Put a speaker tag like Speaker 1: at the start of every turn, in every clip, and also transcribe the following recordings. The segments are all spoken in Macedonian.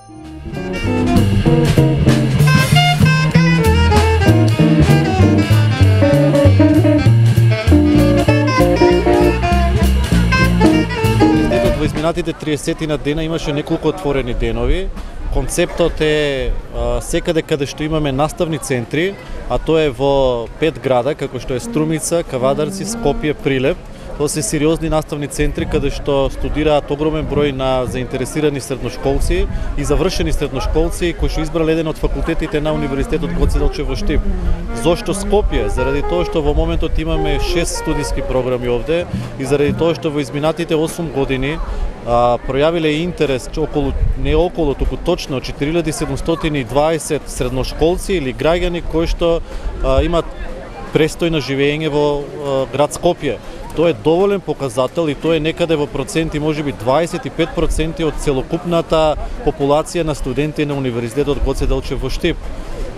Speaker 1: Во изминатите 30 на дена имаше неколку отворени денови. Концептот е секаде каде што имаме наставни центри, а тоа е во 5 града, како што е Струмица, Кавадарци, Скопје, Прилеп. Тоа се сериозни наставни центри каде што студираат огромен број на заинтересирани средношколци и завршени средношколци кои што избрале еден од факултетите на Универзитетот Гоце Делчев во Штип. Зошто Скопје? Заради тоа што во моментот имаме 6 студиски програми овде и заради тоа што во изминатите 8 години пројавиле интерес туку точно 4720 средношколци или граѓани кои што имаат престојно живење во град Скопје. Тоа е доволен показател и тоа е некаде во проценти, можеби 25% од целокупната популација на студенти на Универзитетот Гоце Делчев во Штип.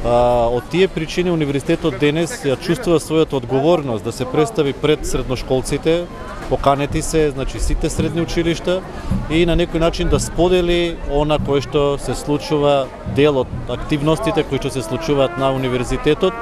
Speaker 1: Од тие причини Универзитетот денес ја чувствува својата одговорност да се представи пред средношколците, поканети се, значи сите средни училишта и на некој начин да сподели она кое што се случува, дел од активностите кои што се случуваат на универзитетот.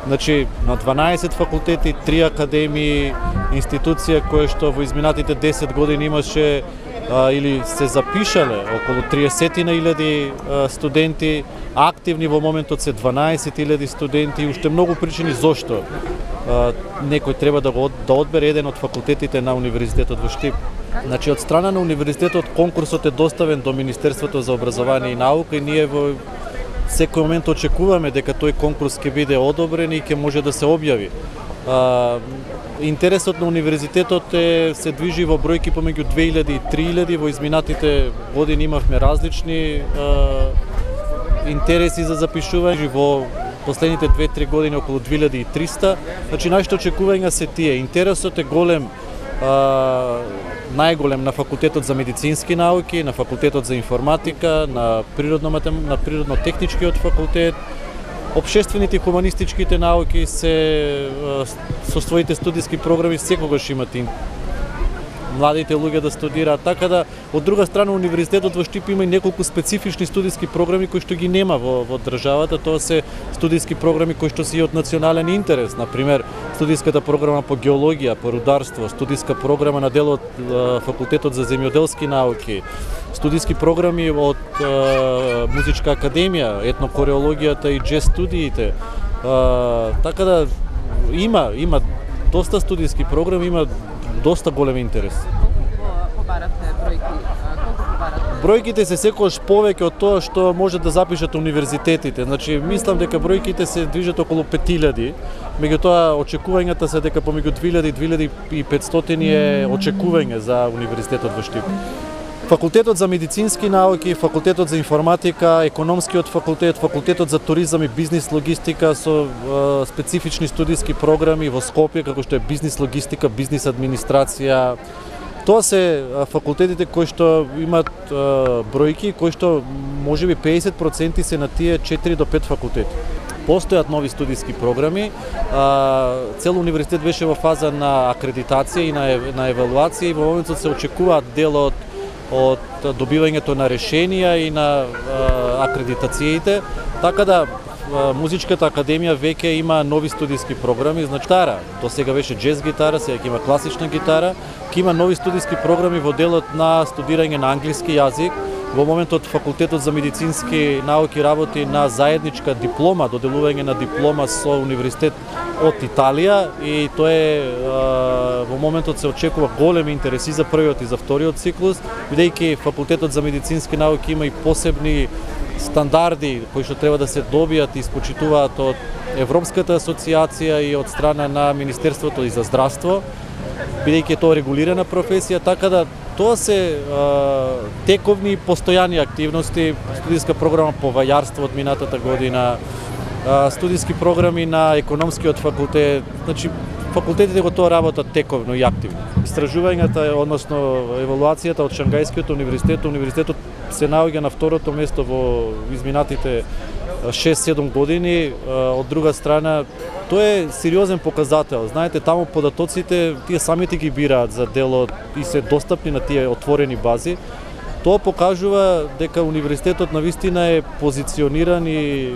Speaker 1: Значи, на 12 факултети, 3 академии, институција која што во изминатите 10 години имаше или се запишале околу 30.000 студенти, активни во моментот се 12.000 студенти и уште многу причини зошто некој треба да одбере еден од факултетите на Универзитетот во Штип. Значи, од страна на Универзитетот конкурсот е доставен до Министерството за образование и наука и ние во секој момент очекуваме дека тој конкурс ќе биде одобрен и ќе може да се објави. Интересот на универзитетот се движи во бројки помеѓу 2000 и 3000, во изминатите години имавме различни интереси за запишување, во последните 2-3 години околу 2300. Значи, нашите очекувања се тие. Интересот е голем, најголем на факултетот за медицински науки, на факултетот за информатика, на природно-техничкиот факултет. Обшествените и хуманистичките науки се со своите студиски програми секогаш имат младите луѓе да студираат, така да од друга страна Универзитетот во Штип има и неколку специфични студиски програми кои што ги нема во државата. Тоа се студиски програми кои што се и од национален интерес, например студиската програма по геологија, по рударство, студиска програма на дел од факултетот за земјоделски науки, студиски програми од музичка академија, етнокореологијата и џез студиите. Така да има доста студиски програми, има доста голем интерес.
Speaker 2: Колку побаравте бројки?
Speaker 1: Бројките се секогаш повеќе од тоа што може да запишат универзитетите. Значи, мислам дека бројките се движат околу 5000, меѓутоа очекувањата се дека помеѓу 2000 и 2500 е очекување за Универзитетот во Штип. Факултетот за медицински науки, факултетот за информатика, економскиот факултет, факултетот за туризам и бизнис логистика со специфични студиски програми во Скопје, како што е бизнис логистика, бизнис администрација. Тоа се факултетите кои што имаат бројки, кои што можеби 50% се на тие 4 до 5 факултети. Постојат нови студиски програми, цел универзитет беше во фаза на акредитација и на евалуација и во моментот се очекуваат дел од добивањето на решенија и на акредитациите, така да Музичката академија веќе има нови студиски програми, значи гитара, до сега беше џез гитара, сега ќе има класична гитара, ќе има нови студиски програми во делот на студирање на англиски јазик. Во моментот Факултетот за медицински науки работи на заедничка диплома, доделување на диплома со универзитет од Италија и тоа е во моментот се очекува голем интерес и за првиот и за вториот циклус, бидејќи Факултетот за медицински науки има и посебни стандарди кои што треба да се добијат и испочитуваат од Европската асоциација и од страна на Министерството и за здравство, бидејќи е тоа регулирана професија, така да тоа се тековни и постојани активности, студиска програма по вајарство од минатата година, студиски програми на економскиот факултет, значи факултетите го тоа работат тековно и активно. Истражувањата, односно евалуацијата од Шангајскиот универзитетот се наоѓа на второто место во изминатите 6-7 години. Од друга страна, тоа е сериозен показател. Знаете, таму податоците, тие самите ги бираат за делот и се достапни на тие отворени бази. Тоа покажува дека универзитетот навистина е позициониран и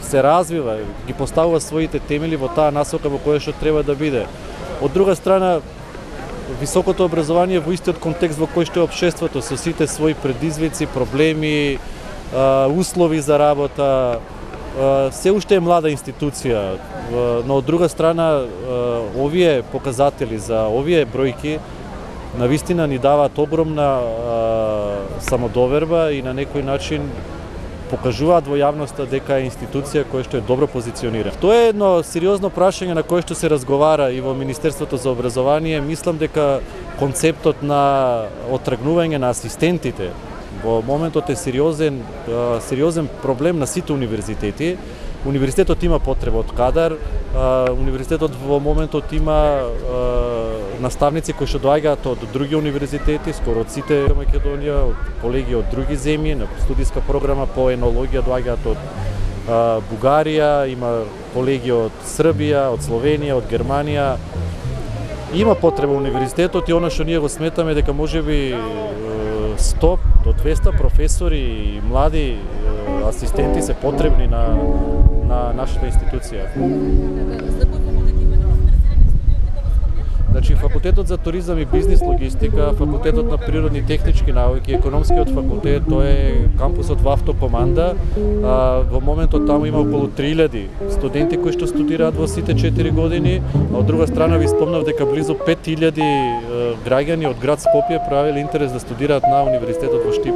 Speaker 1: се развива, ги поставува своите темели во таа насока во која што треба да биде. Од друга страна, високото образование во истиот контекст во кој што е општеството со сите своји предизвици, проблеми, услови за работа, се уште е млада институција, но од друга страна овие показатели за овие бројки навистина ни даваат огромна самодоверба и на некој начин покажуваат во јавноста дека е институција која што е добро позиционирана. Тоа е едно сериозно прашање на кое што се разговара и во Министерството за образование. Мислам дека концептот на оттргнување на асистентите во моментот е сериозен проблем на сите универзитети. Универзитетот има потреба од кадар, универзитетот во моментот има наставници кои што доаѓаат од други универзитети, скоро од сите Македонија, од колеги од други земји, на студиска програма по енологија доаѓаат од Бугарија, има колеги од Србија, од Словенија, од Германија. Има потреба универзитетот и она што ние го сметаме дека можеби 100 до 200 професори и млади асистенти се потребни на нашата институција. Значи, факултетот за туризам и бизнис логистика, факултетот на природни и технички науки, економскиот факултет, тоа е кампусот во автокоманда. Во моментот таму има околу 3000 студенти кои што студираат во сите 4 години, а од друга страна ви спомнав дека близу 5000 граѓани од град Скопје правеле интерес да студираат на универзитетот во Штип.